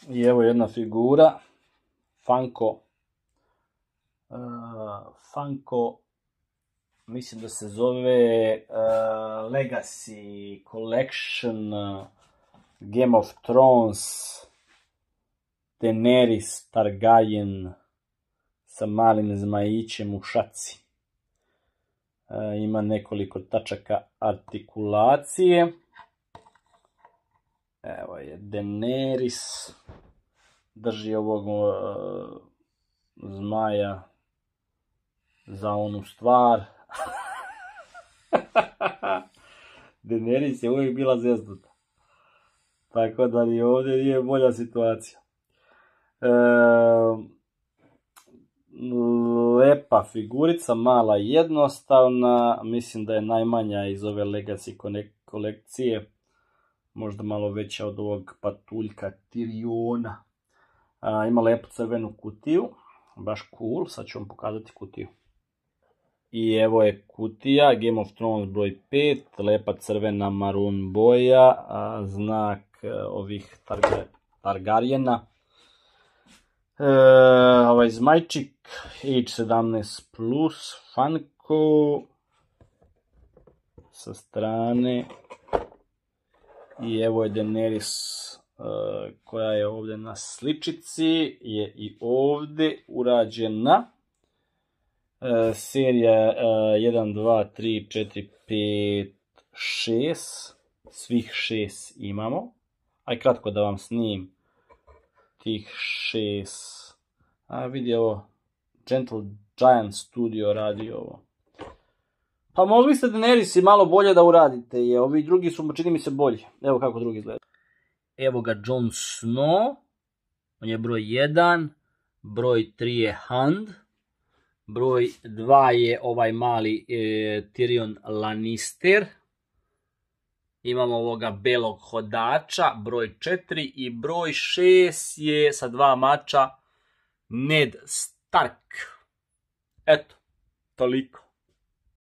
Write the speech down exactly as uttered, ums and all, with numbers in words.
I evo jedna figura, Funko, uh, Funko, mislim da se zove uh, Legacy Collection, uh, Game of Thrones, Daenerys Targaryen sa malim zmajićem u šaci. Uh, ima nekoliko tačaka artikulacije. Evo je Daenerys, drži ovog uh, zmaja za onu stvar. Daenerys je uvijek bila zeznuta. Tako da ni ovdje nije bolja situacija. E, lepa figurica, mala i jednostavna. Mislim da je najmanja iz ove Legacy kolekcije. Možda malo veća od ovog patuljka Tyriona. A, ima lepu crvenu kutiju. Baš cool. Sad ću vam pokazati kutiju. I evo je kutija, Game of Thrones broj pet, lepa crvena maroon boja, a, znak a, ovih Targa, Targaryena. E, ovaj zmajčik, H sedamnaest plus, Funko, sa strane. I evo je Daenerys a, koja je ovdje na sličici, je i ovdje urađena. Uh, serija uh, jedan, dva, tri, četiri, pet, šest, svih šest imamo. Aj kratko da vam snimim tih šest. A vidi ovo, Gentle Giant Studio radi ovo. Pa mogli ste Daenerys i malo bolje da uradite, je ovi drugi su, čini mi se, bolji. Evo kako drugi izgleda. Evo ga Jon Snow, on je broj jedan, broj tri je Hand. Broj dva je ovaj mali e, Tyrion Lannister. Imamo ovoga belog hodača, broj četiri, i broj šest je sa dva mača Ned Stark. Eto, toliko.